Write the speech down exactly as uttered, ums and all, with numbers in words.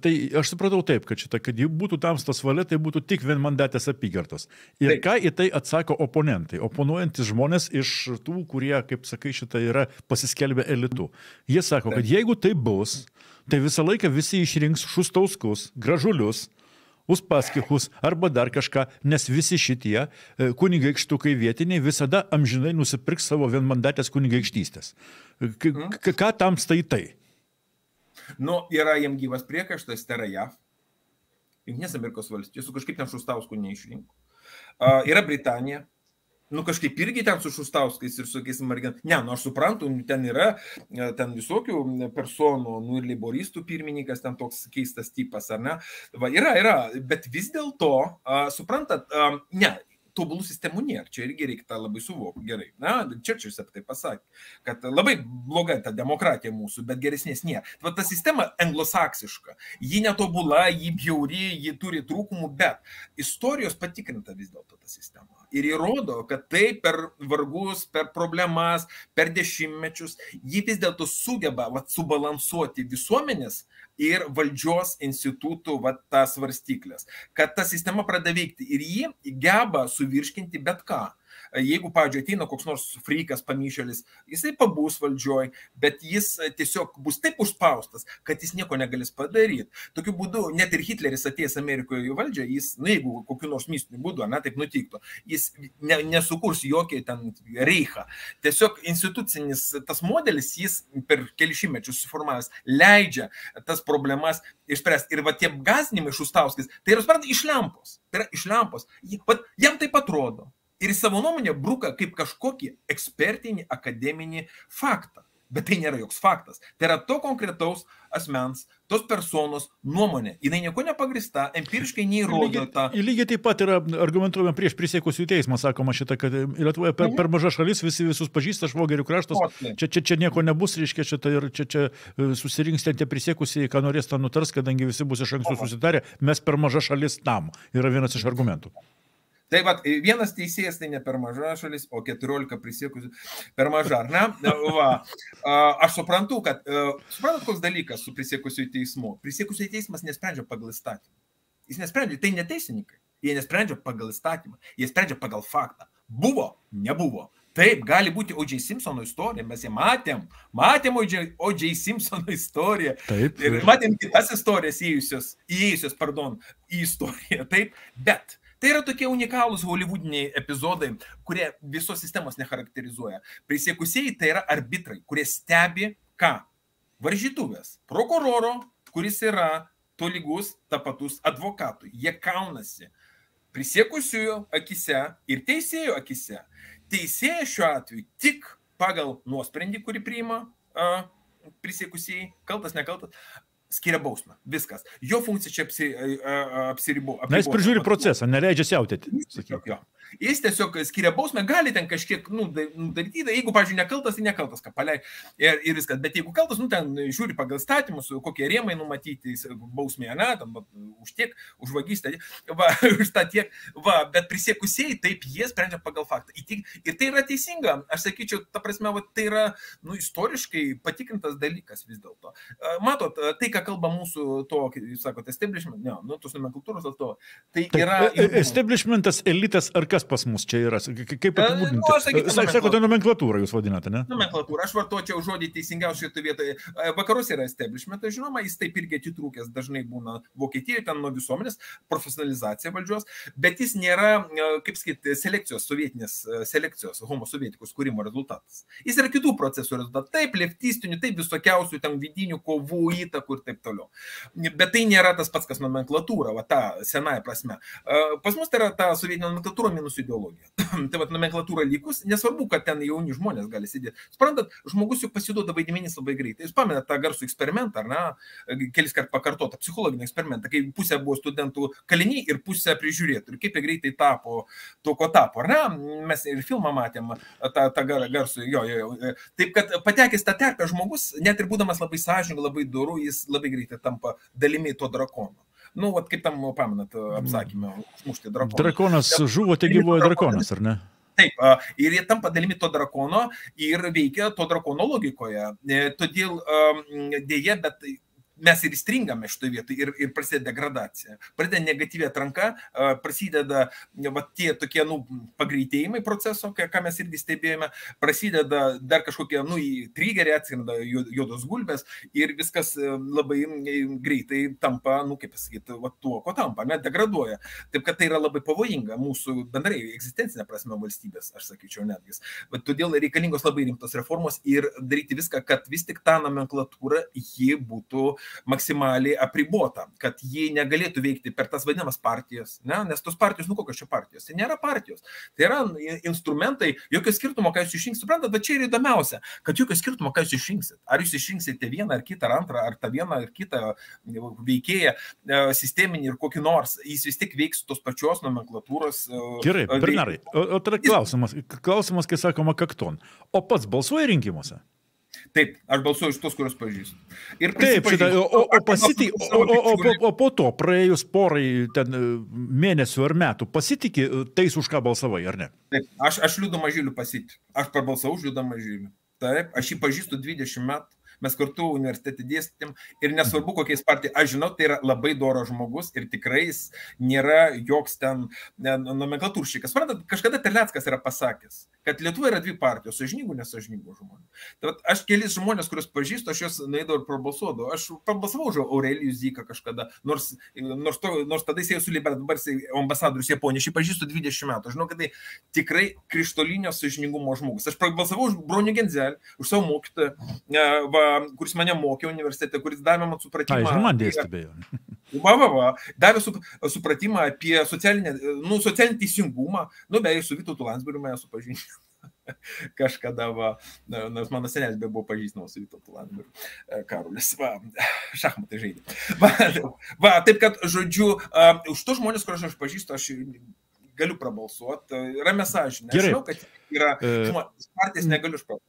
tai aš supratau taip, kad šitą, kad jų būtų tamstos valia, tai būtų tik vienmandatės apygardos. Ir taip. Ką į tai atsako oponentai, oponuojantis žmonės iš tų, kurie, kaip sakai, šitą yra pasiskelbę elitu. Jie sako, taip. Kad jeigu tai bus, tai visą laiką visi išrinks Šustauskus, Gražulius, Uspaskichus arba dar kažką, nes visi šitie kunigaikštukai vietiniai visada amžinai nusipirks savo vienmandatės kunigaikštystės. K ką tamsta į tai? Nu, yra jiem gyvas priekaištas, tai yra J A V. Jungtinės Amerikos valstijos, su kažkaip ten Šustauskų neišrinko. Uh, yra Britanija. Nu, kažkaip irgi ten su Šustauskais ir su tokiais margin. Ne, nu, aš suprantu, ten yra ten visokių personų, nu, ir leiboristų pirmininkas, ten toks keistas tipas, ar ne? Va, yra, yra, bet vis dėlto, uh, suprantat, uh, ne, tobulų sistemų nėra, čia irgi reikia tą labai suvokti gerai. Na, Čerčilis apie tai pasakė, kad labai bloga ta demokratija mūsų, bet geresnės nėra. Va, ta sistema anglosaksiška, ji netobula, ji bjauri, ji turi trūkumų, bet istorijos patikrinta vis dėlto ta sistema. Ir įrodo, kad tai per vargus, per problemas, per dešimtmečius, ji vis dėlto sugeba va, subalansuoti visuomenės ir valdžios institutų va, tas svarstyklės, kad ta sistema pradeda veikti ir ji geba suvirškinti bet ką. Jeigu, pavyzdžiui, ateina koks nors frikas, pamyšėlis, jisai pabūs valdžioj, bet jis tiesiog bus taip užspaustas, kad jis nieko negalės padaryti. Tokiu būdu, net ir Hitleris atėjęs Amerikoje į valdžią, jis, nu, jeigu kokiu nors mistiniu būdu, na, taip nutiktų, jis ne, nesukurs jokį ten reichą. Tiesiog institucinis tas modelis, jis per kelišimtmečius suformavęs, leidžia tas problemas išspręsti. Ir va tie gąsdinimai Šustauskais, tai yra, suprantate, iš lempos. Tai yra iš lempos. Jam taip atrodo. Ir savo nuomonę bruka kaip kažkokį ekspertinį, akademinį faktą. Bet tai nėra joks faktas. Tai yra to konkretaus asmens, tos personos nuomonė. Jinai nieko nepagrįsta, empiriškai neįrodo tą. Lygiai taip pat yra argumentuojama prieš prisiekusiųjų teismą, sakoma šitą, kad Lietuvoje per, per maža šalis, visi visus pažįsta, švogerių kraštas, čia, čia, čia nieko nebus, reiškia, šitą, ir čia, čia susirinks ten tie prisiekusiai, ką norės tą nutars, kadangi visi bus iš anksto susitarę, mes per maža šalis tam. Yra vienas iš argumentų. Tai va, vienas teisėjas tai ne per maža šalis, o keturiolika prisiekusių per maža, ar ne? Va, aš suprantu, kad, suprantat, koks dalykas su prisiekusiųjų teismu. Prisiekusiųjų teismas nesprendžia pagal įstatymą. Jis nesprendžia, tai ne teisininkai. Jie nesprendžia pagal įstatymą, jie sprendžia pagal faktą. Buvo, nebuvo. Taip, gali būti O J Simpsono istorija, mes ją matėm, matėm O J Simpsono istoriją. Taip. Ir matėm kitas istorijas įėjusios, įėjusios, pardon, į istoriją, taip, bet tai yra tokie unikalūs hollywoodiniai epizodai, kurie visos sistemos necharakterizuoja. Prisiekusieji tai yra arbitrai, kurie stebi ką? Varžytuvės. Prokuroro, kuris yra tolygus, tapatus advokatui. Jie kaunasi prisiekusiųjų akise ir teisėjų akise. Teisėjas šiuo atveju tik pagal nuosprendį, kurį priima a, prisiekusieji, kaltas, nekaltas, skiria bausmę. Viskas. Jo funkcija čia apsi, apsiribo. Na, jis prižiūri procesą, neleidžia siautėti. Jis tiesiog skiria bausmę, gali ten kažkiek nu, daryti, jeigu, pavyzdžiui, nekaltas, tai nekaltas, ką palei ir, ir viskas. Bet jeigu kaltas, nu, ten žiūri pagal statymus, kokie rėmai numatyti bausmėje, ne, tam, va, už tiek, už vagystę, va, už tą tiek, va, bet prisiekusieji, taip, jie sprendžia pagal faktą. Ir tai yra teisinga, aš sakyčiau, ta prasme, va, tai yra, nu, istoriškai patikrintas dalykas vis dėlto. Matot, tai, ką kalba mūsų to, jūs sakote, establishment, ne, nu, tos nomenklatūros atstovai, tai yra... Establishmentas, elitas, ar kas pas mus čia yra? Kaip apibūdinti? Sakote, nomenklatūrą jūs vadinate, ne? Nomenklatūrą. Aš vartočiau žodį teisingiausiai šitoje vietoje. Vakaruose yra establishmentas, žinoma, jis taip irgi atitrūkęs dažnai būna Vokietijoje, ten nuo visuomenės, profesionalizacija valdžios, bet jis nėra, kaip sakyti, selekcijos, sovietinės selekcijos, homo sovietikus kūrimo rezultatas. Jis yra kitų procesų rezultatas. Taip, leftistinių, taip visokiausių, ten vidinių kovų, įtakų ir taip toliau. Bet tai nėra tas pats, kas nomenklatūra, va, ta senąja prasme. Pas mus tai yra ta sovietinė nomenklatūra minus ideologija. Tai va, nomenklatūra likus, nesvarbu, kad ten jauni žmonės gali sėdėti. Suprantat, žmogus juk pasiduoda vaidmenys labai greitai. Jūs pamenat tą garsų eksperimentą, ar ne, kelis kart pakartotą psichologinį eksperimentą, kai pusė buvo studentų kaliniai ir pusė prižiūrėtų. Ir kaip jie greitai tapo to, ko tapo, ar ne? Mes ir filmą matėm, tą, tą garsų, jo, jo, jo. Taip, kad patekęs tą terpę žmogus, net ir būdamas labai sąžiningas, labai doru, jis labai greitai tampa dalimi to drakono. Nu, vat kaip tam, pamenat, apsakymę, užmušti drakoną. Drakonas žuvo, tai gyvoja drakonas, ar ne? Taip, ir jie tampa dalimi to drakono ir veikia to drakono logikoje. Todėl dėja, bet mes ir įstringame šitoje vietoje ir, ir prasideda degradacija. Prasideda negatyvi atranka, prasideda va, tie tokie nu, pagreitėjimai proceso, ką mes irgi stebėjome, prasideda dar kažkokie nu, trigeriai, atsiranda juodos gulbės ir viskas labai greitai tampa, nu, kaip pasakyti, va, tuo, ko tampa, net degraduoja. Taip, kad tai yra labai pavojinga mūsų bendrai egzistencinė prasme valstybės, aš sakyčiau netgi. Bet todėl reikalingos labai rimtos reformos ir daryti viską, kad vis tik ta nomenklatūra ji būtų maksimaliai apribota, kad ji negalėtų veikti per tas vadinamas partijas, ne? Nes tos partijos, nu kokios čia partijos, tai nėra partijos, tai yra instrumentai, jokio skirtumo, ką jūs išrinksit, suprantat, bet čia yra įdomiausia, kad jokio skirtumo, ką jūs išrinksit, ar jūs išrinksite vieną ar kitą, ar antrą, ar tą vieną ar kitą veikėją, sisteminį ir kokį nors, jis vis tik veiks tos pačios nomenklatūros. Gerai, Bernarai, o, o tada klausimas, klausimas, kai sakoma kakton, o pats balsuoja rinkimuose? Taip, aš balsuoju iš tos, kurios pažįstu. Ir taip, šitą, o, o, pasitiki, o, o, o, o, o po to, praėjus porai ten, mėnesių ar metų, pasitiki tais, už ką balsavai, ar ne? Taip, aš, aš Liudą Mažylių pasitikiu. Aš prabalsavau už Liudą Mažylių. Taip, aš jį pažįstu dvidešimt metų. Mes kartu universitete dėstėm ir nesvarbu, kokiais partijai, aš žinau, tai yra labai doras žmogus ir tikrai jis nėra joks ten nomenklatūrščikas. Suprantat, kažkada Terleckas yra pasakęs, kad Lietuvoje yra dvi partijos, sąžiningų, nesąžiningų žmonių. Tai aš kelis žmonės, kuriuos pažįstu, aš juos nueidavau ir prabalsuodavau. Aš prabalsavau už Aurelijų Zyką kažkada, nors, nors, to, nors tada jis jau su Libera, dabar jis ambasadorius Japonijos, aš jį pažįstu dvidešimt metų. Aš žinau, kad tai tikrai krištolinio sąžiningumo žmogus. Aš prabalsavau už Bronių Genzelį, už savo mokytoją, va, kuris mane mokė universitete, kuris davė man supratimą. Ai, ir man dėstė, beje. Va, va, va. Davė supratimą apie socialinį, nu, socialinį teisingumą. Nu, beje, su Vytautu Landsbergiu mane supažindino. Kažkada, va, nors mano senelis be buvo pažįstamas su Vytautu Landsbergiu. Karolis, va, šachmatai žaidė. Va, va, taip kad, žodžiu, uh, už to žmonės, kuriuos aš pažįstu, aš galiu prabalsuoti. Ramia sąžinė. Aš žinau, kad yra, žinoma, partijas negaliu prabalsuoti.